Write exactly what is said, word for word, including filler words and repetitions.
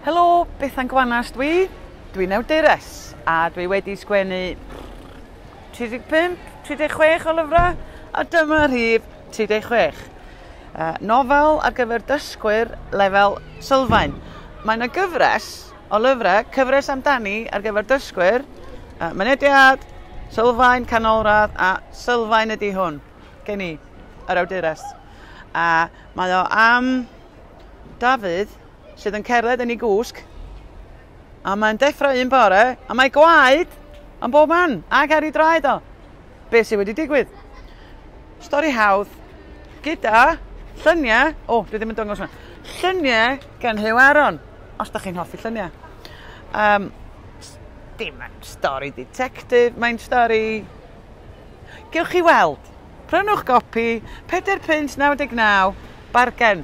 Helo, Bethan Gwanas dwi. Dwi'n awdures a dwi wedi sgwennu tri deg pump, tri deg chwech o lyfrau, a dyma rhif tri deg chwech. Uh, nofel ar gyfer dysgwyr lefel sylfaen. Mae yna gyfres o lyfrau, cyfres amdani ar gyfer dysgwyr, uh, mynediad, sylfaen, canolradd a sylfaen ydy hwn, gen i, yr awdures. A mae o am Dafydd sydd yn cerdded yn ei gwsg, a mae'n deffro un bore, a mae gwaed yn bob man, ac ar ei draed o. Be sydd wedi digwydd? Stori hawdd, gyda lluniau, o, dwi ddim yn dangos hwnna, lluniau gan Huw Aaron, os da chi'n hoffi lluniau. Um, dim yn stori detective, mae'n stori... Gewch chi weld. Prynwch gopi, pedair punt naw deg naw, bargen.